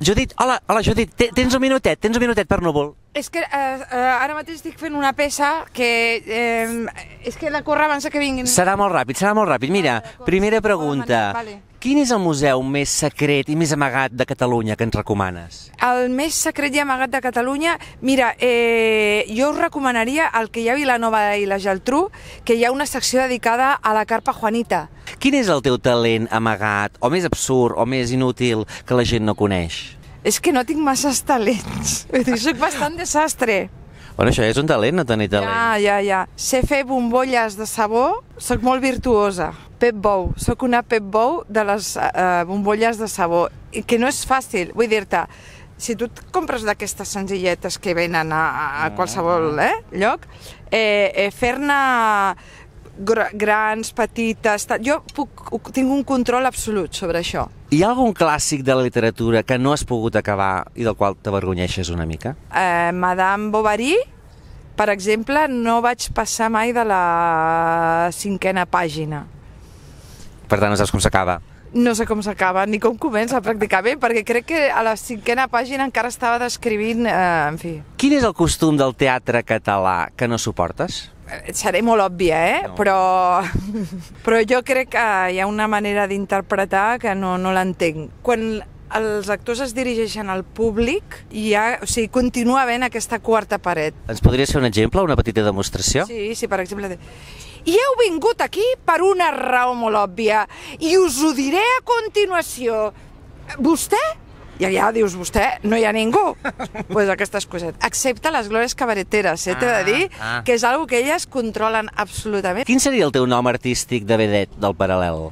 Judit, hola, Judit, tens un minutet per Núvol. És que ara mateix estic fent una peça que és que la corre abans que vinguin. Serà molt ràpid. Mira, primera pregunta. Quin és el museu més secret i més amagat de Catalunya que ens recomanes? El més secret i amagat de Catalunya? Mira, jo us recomanaria el que hi ha a Vilanova i la Geltrú, que hi ha una secció dedicada a la carpa Juanita. Quin és el teu talent amagat, o més absurd, o més inútil, que la gent no coneix? És que no tinc masses talents. Vull dir, soc bastant desastre. Bueno, això és un talent, no tenir talent. Ja. Sé fer bombolles de sabó, soc molt virtuosa. Pep Bou, soc una Pep Bou de les bombolles de sabó, que no és fàcil, vull dir-te, si tu et compres d'aquestes senzilletes que venen a qualsevol lloc, fer-ne grans, petites, jo tinc un control absolut sobre això. Hi ha algun clàssic de la literatura que no has pogut acabar i del qual t'avergonyeixes una mica? Madame Bovary, per exemple, no vaig passar mai de la 5a pàgina. Per tant, no saps com s'acaba? No sé com s'acaba, ni com comença pràcticament, perquè crec que a la 5a pàgina encara estava descrivint, en fi. Quin és el costum del teatre català que no suportes? Seré molt òbvia, No. Però jo crec que hi ha una manera d'interpretar que no l'entenc. Quan els actors es dirigeixen al públic, continua havent aquesta quarta paret. Ens podries fer un exemple, una petita demostració? Sí, per exemple... I heu vingut aquí per una raó molt òbvia, i us ho diré a continuació. Vostè? I allà dius, vostè, no hi ha ningú. Pues aquestes coses. Excepte les glòries cabareteres, t'he de dir, que és una que elles controlen absolutament. Quin seria el teu nom artístic de vedet del Paral·lel?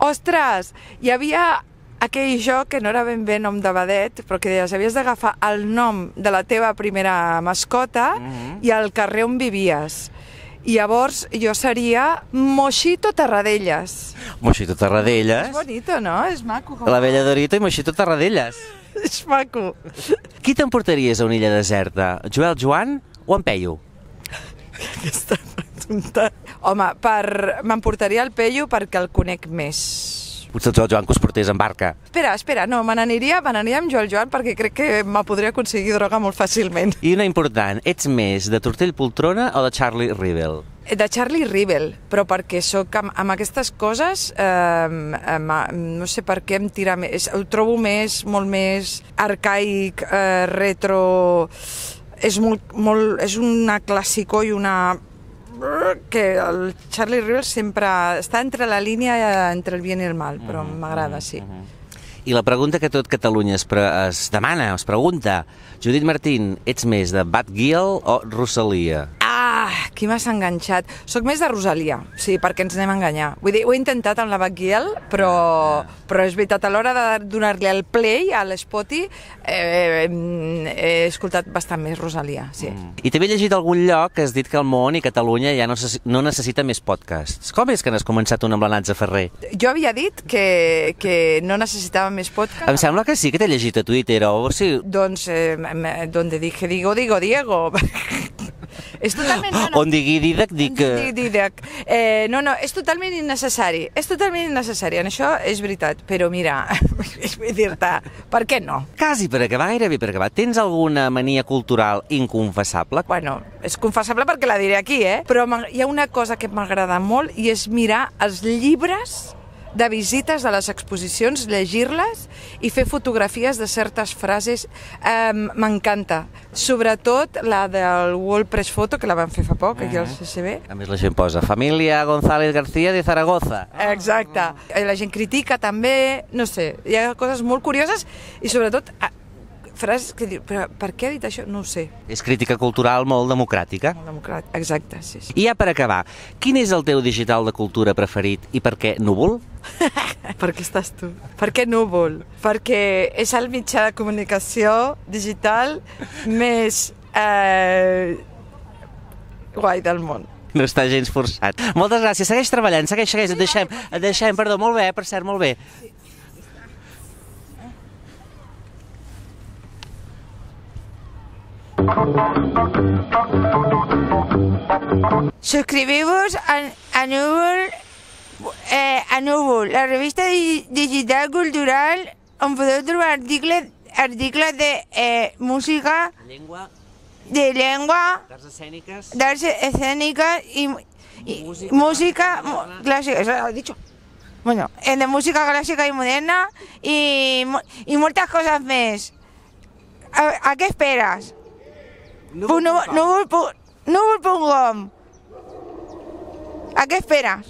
Ostres, hi havia aquell joc que no era ben bé nom de vedet, però que deies, havies d'agafar el nom de la teva primera mascota i el carrer on vivies. I llavors jo seria Moixito Tarradellas. Moixito Tarradellas? És bonito, no? És maco. La Bella Dorito i Moixito Tarradellas. És maco. Qui t'emportaries a una illa deserta? Joel Joan o en Peyu? Aquesta pregunta... Home, m'emportaria el Peyu perquè el conec més. Potser el Joel Joan que us portés en barca. Espera, no, me n'aniria amb Joel Joan perquè crec que me podria aconseguir droga molt fàcilment. I una important, ets més de Tortell Poltrona o de Charlie Rivel? De Charlie Rivel, però perquè soc amb aquestes coses, no sé per què em tira més, ho trobo molt més arcaic, retro, és una clàssico i una... que el Charlie Rivel sempre està entre la línia entre el bien i el mal, però m'agrada, sí. I la pregunta que tot Catalunya es demana, es pregunta, Judit Martín, ets més de Batgirl o Rosalia? Aquí m'has enganxat. Soc més de Rosalia, sí, perquè ens anem a enganyar. Vull dir, ho he intentat amb la Batgirl, però és veritat, a l'hora de donar-li el play a l'Spotty he escoltat bastant més Rosalia, sí. I t'he llegit a algun lloc que has dit que el món i Catalunya ja no necessita més podcasts. Com és que n'has començat un amb la Natza Ferrer? Jo havia dit que no necessitava més podcasts. Em sembla que sí que t'he llegit a Twitter o sí. Doncs, donde dije digo Diego. És totalment... On digui Didac, dic... No, és totalment innecessari. És totalment innecessari, en això és veritat. Però mira, vull dir-te, per què no? Quasi per acabar, gairebé per acabar. Tens alguna mania cultural inconfessable? Bueno, és confessable perquè la diré aquí, però hi ha una cosa que m'agrada molt i és mirar els llibres de visites de les exposicions, llegir-les i fer fotografies de certes frases. M'encanta. Sobretot la del World Press Photo, que la van fer fa poc, aquí al CCB. A més la gent posa Família González García de Zaragoza. Exacte. La gent critica també, no sé, hi ha coses molt curioses i sobretot frases que diu, però per què ha dit això? No ho sé. És crítica cultural molt democràtica. Molt democràtica, exacte, sí. I ja per acabar, quin és el teu digital de cultura preferit i per què Núvol? Per què estàs tu? Per què Núvol? Perquè és el mitjà de comunicació digital més guai del món. No està gens forçat. Moltes gràcies, segueix treballant, segueix, et deixem, perdó, molt bé, per cert, molt bé. Suscribimos a Núvol, la revista digital cultural on podeu trobar articles de música, de llengua, d'arts escèniques i música clàssica, eso lo he dicho. Bueno, de música clàssica i moderna i moltes coses més. ¿A qué esperas? Núvol.com. ¿A qué esperas?